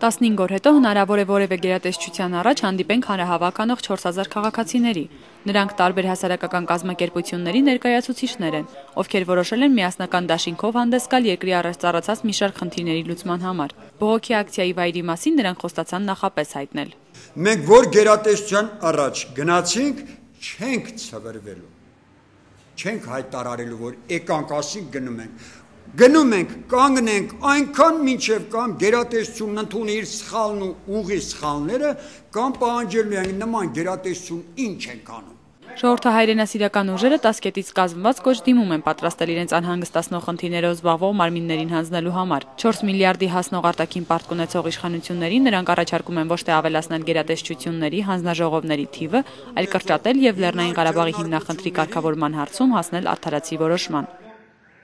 15 օր հետո հնարավոր է որևէ գերատեսչության առաջ հանդիպենք հանրահավաք անող 4000 քաղաքացիների։ Նրանք տարբեր հասարակական կազմակերպությունների ներկայացուցիչներ են, ովքեր որոշել են միասնական դաշինքով հանդես գալ երկրի առաջ ծառացած մի շարք խնդիրների լուծման համար։ Բողոքի ակցիայի վայրի մասին նրանք խոստացան նախապես հայտնել։ Մենք որ գերատեսչության առաջ գնացինք, չենք ցվրվելու, չենք հայտարարելու, որ եկանք ասինք գնում ենք, կանգնենք այնքան մինչև կամ գերատեսչությունն ընդունի իր սխալն ու ուղի սխալները, կամ պահանջելու են նման գերատեսչություն ինչ ենք անում։ Ժողովրդահայրենասիրական ուժերը 10 կետից կազմված կոչ դիմում են պատրաստել իրենց անհանգստացնող խնդիրներով զբաղվող մարմիններին հանձնելու համար։ 4 միլիարդի հասնող արտաքին պարտք ունեցող իշխանություններին նրանք առաջարկում են ոչ թե ավելացնել գերատեսչությունների, հանձնաժողովների թիվը, այլ կրճատել եւ Լեռնային Ղարաբաղի հիմնախնդրի կարգավորման հարցում հասնել արդարացի որոշման։